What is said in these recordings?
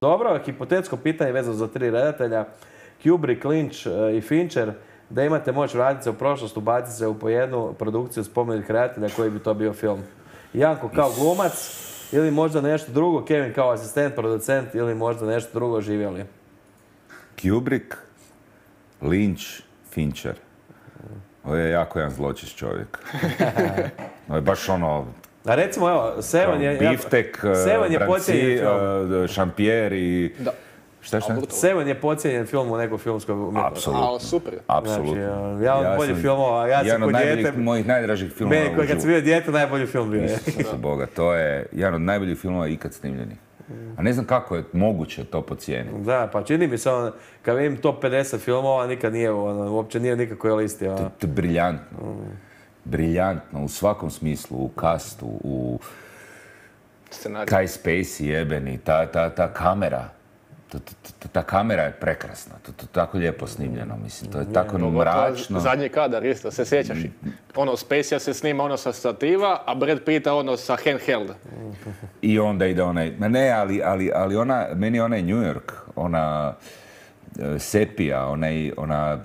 Dobro, hipotetsko pitanje vezano za 3 redatelja. Kubrick, Lynch i Fincher. Da imate moć vratiti se u prošlost, ubaciti se u po jednu produkciju spomenutih redatelja, koji bi to bio film? Janko kao glumac ili možda nešto drugo, Kevin kao asistent, producent ili možda nešto drugo, živjeli? Kubrick, Lynch, Fincher. Ovo je jako jedan zločist čovjek. Ovo je baš ono... A recimo, evo, Seven je... Biftek, Branci, Šampijer i... Da. Šta? Seven je podcijenjen film u nekoj filmskoj umjetnosti. Apsolutno. Ali super. Apsolutno. Znači, jedan od boljih filmova, ja sam kod dijete... mojih najdražih filmova u Meni, kad sam bio dijete, najbolji film bio je. Isuse Boga, to je jedan od najboljih filmova ikad snimljenih. A ne znam kako je moguće to pocijeniti. Da, pa čini mi se, kad vidim top 50 filmova, nikad nije, uopće nije nikakvoj listi. To je briljantno. Briljantno, u svakom smislu, u kastu, u... Kaj Spacey jebeni, ta kamera. Ta kamera je prekrasna, to je tako lijepo snimljeno, mislim, to je tako mračno. Zadnji kadar isto, se sjećaš? Ono, Spacey se snima ono sa stativa, a Brad Pitt ono sa handheld. I onda ide onaj, ne, ali ona, meni je onaj New York, ona sepija, ona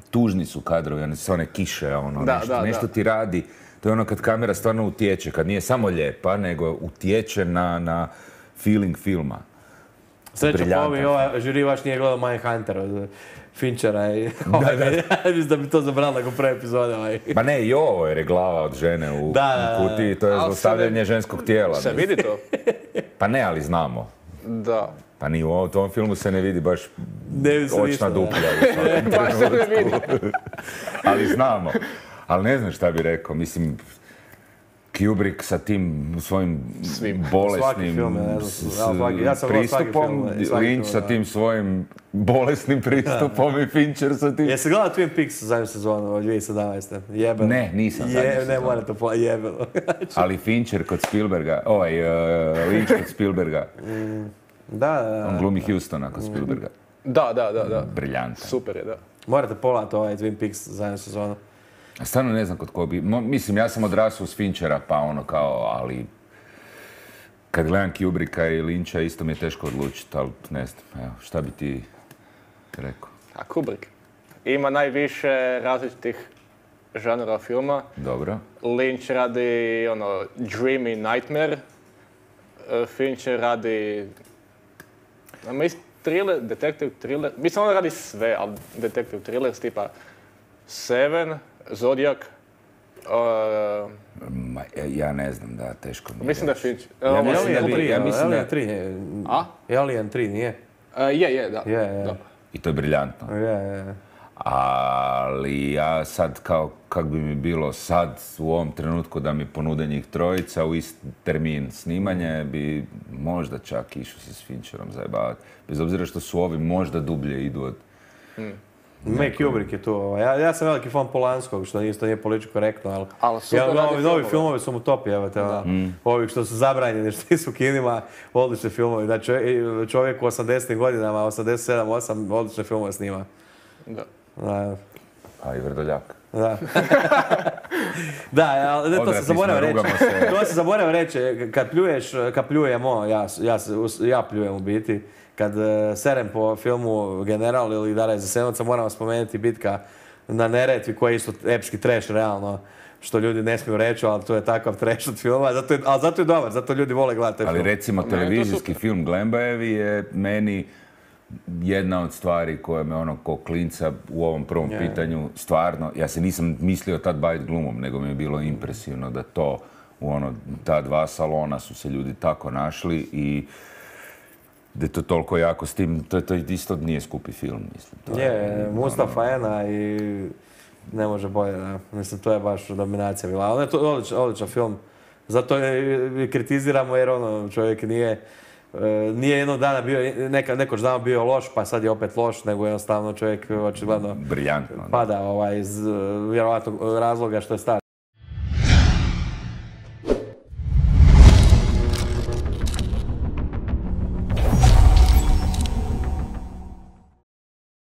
tužni su kadrovi, one su one kiše, ono, nešto ti radi. To je ono kad kamera stvarno utječe, kad nije samo lijepa, nego utječe na feeling filma. Sreća po ovi, žiri vaš nije gledao Mindhunter od Finchera i mislim da bi to zabrali nakon prve epizode. Ma ne, i ovo jer je glava od žene u kutiji, to je zlostavljanje ženskog tijela. Se vidi to? Pa ne, ali znamo. Da. Pa ni u tom filmu se ne vidi baš očna duplja. Baš se ne vidi. Ali znamo. Ali ne znam šta bi rekao, mislim... Kubrick sa tim svojim bolesnim pristupom, Lynch sa tim svojim bolesnim pristupom i Fincher sa tim... Jesi gledao Twin Peaks zadnju sezonu od 2017. Jebeno. Ne, nisam zadnju sezonu. Ne, morate jebeno. Ali Fincher kod Spielberga, Lynch kod Spielberga. Da. On glumi Houstona kod Spielberga. Da. Briljantan. Super je, da. Morate pogledati Twin Peaks zadnju sezonu. Stvarno ne znam kod ko bi... Mislim, ja sam odrasao s Finchera, pa ono kao, ali... Kad gledam Kubricka i Lyncha, isto mi je teško odlučiti, ali ne znam, evo, šta bi ti rekao? A Kubrick ima najviše različitih žanra filma. Dobro. Lynch radi, dreamy nightmare. Fincher radi... thriller, detective thriller. Mislim, on radi sve, ali detective thriller, tipa Seven, Zodiac. Ja ne znam, da, teško mi je. Mislim da je Fincher. Alien 3. A? Alien 3, nije? Je, da. I to je briljantno. Ali ja sad, kak bi mi bilo sad u ovom trenutku da mi ponude njih trojica u isti termin snimanja, bi možda čak išao se s Fincherom zajebavati. Bez obzira što su ovi možda dublje idu od... Kubrick je tu. Ja sam veliki fan Polanskog, što isto nije politički korektno, ali ovi novi filmovi su mu top, ovi što su zabranjeni, što nisu u kinima, odlični filmovi. Znači, čovjek u 80. godinama, 87, 8, odlične filmove snima. Da. A i Vrdoljak. Da. Da, to se zaboravio reći. Kad pljujemo, ja pljujem u biti, kad serem po filmu General ili Dara iz Jasenovca, moramo spomenuti bitka na Neretvi, koji je isto epski trash, realno, što ljudi ne smiju reći, ali to je takav trash od filma, ali zato je dobar, zato ljudi vole gledati taj film. Ali recimo televizijski film Glembajevi je meni jedna od stvari koja me ko klinca u ovom prvom pitanju, stvarno, ja se nisam mislio tad baviti glumom, nego mi je bilo impresivno da to, ta dva salona su se ljudi tako našli i da je to toliko jako s tim, to isto nije skupi film, mislim. Mustafa Ena i ne može bolje, da. Mislim, to je baš dominacija bila. Ali je to odličan film. Zato je kritiziramo jer čovjek nije jednog dana bio, nekoć dana bio loš, pa sad je opet loš, nego jednostavno čovjek očigledno briljantno pada iz vjerovatnog razloga što je star.